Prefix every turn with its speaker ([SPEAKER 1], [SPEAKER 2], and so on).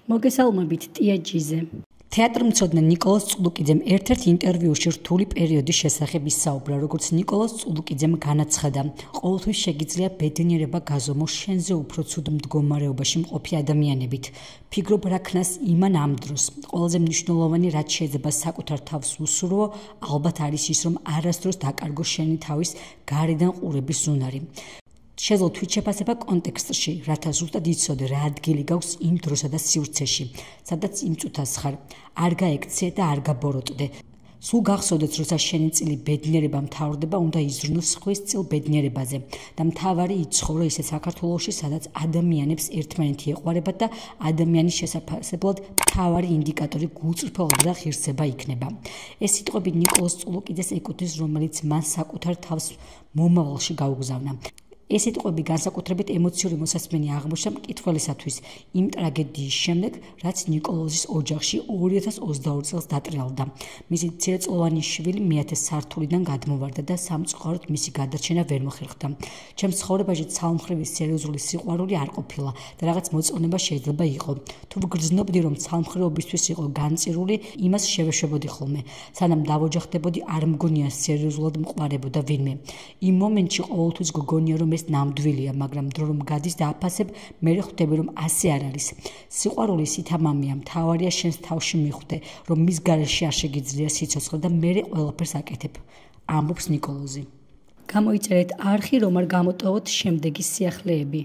[SPEAKER 1] მოგესალმებით ტიაჯიზე. თეატრმცოდნე ნიკოლოზ წულუკიძემ ერთ-ერთ ინტერვიუში რთული პერიოდის შესახებ ისაუბრა, როგორც ნიკოლოზ წულუკიძემ განაცხადა, ყოველთვის შეგიძლია ბედნიერება გაზომო შენზე უფრო ცუდ მდგომარეობაში მყოფი ადამიანებით. ფიქრობ რა ქნას იმან ამ დროს. ყველაზე მნიშვნელოვანი რაც შეიძლება საკუთარ თავს უსურვო, ალბათ არის ის, რომ არასდროს დაკარგო შენი თავის გარედან ყურების უნარი. შეძლო თვით შეფასება კონტექსტში, რათა ზუსტად იცოდე რა ადგილი გაქვს იმ დროსა და სივრცეში, სადაც იმ წუთას ხარ. არ გაექცე და არ გაბოროტდე. სულ გახსოვდეთ, როცა შენი წილი ბედნიერება მთავრდება, უნდა იზრუნო სხვის წილ ბედნიერებაზე და მთავარი იცხოვრო ისე საქართველოში, სადაც ადამიანებს ერთმანეთი ეყვარებათ და ადამიანის შესაძლებლად მთავარი ინდიკატორი გულწრფელობა და ღირსება იქნება. ეს სიტყვები ნიკოლოზ წულუკიძეს ეკუთვნის, რომელიც მან საკუთარ თავს მომავალში გაუგზავნა. ეს სიტყვები განსაკუთრებით ემოციური მოსასმენი აღმოჩნდა მკითხველისათვის იმ ტრაგედიის შემდეგ, რაც ნიკოლოზის ოჯახში 2022 წელს დატრიალდა. მისი მცირეწლოვანი შვილი მეათე სართულიდან გადმოვარდა და სამწუხაროდ მისი გადარჩენა ვერ მოხერხდა. ჩემს ცხოვრებაში ცალმხრივი სერიოზული სიყვარული არ ყოფილა და რაღაც მოწონება შეიძლება იყო. თუ ვგრძნობდი, რომ ცალმხრივობისთვის იყო განწირული, იმას შევეშვებოდი ხოლმე. სანამ დავოჯახდებოდი, არ მგონია სერიოზულად მყარებოდა ვინმე. იმ მომენტში ყოველთვის გგონია, რომ ეს ნამდვილია, მაგრამ დრო რომ გადის და აფასებ, მე ხვდები, რომ ასე არ არის. სიყვარული სითამამია, მთავარია შენს თავში მიხვდე, რომ მის გარეშე არ შეგიძლია სიცოცხლე და მე ყველაფერს აკეთებ. ამბობს ნიკოლოზი. გამოიწერეთ არხი, რომ არ გამოტოვოთ შემდეგი სიახლეები.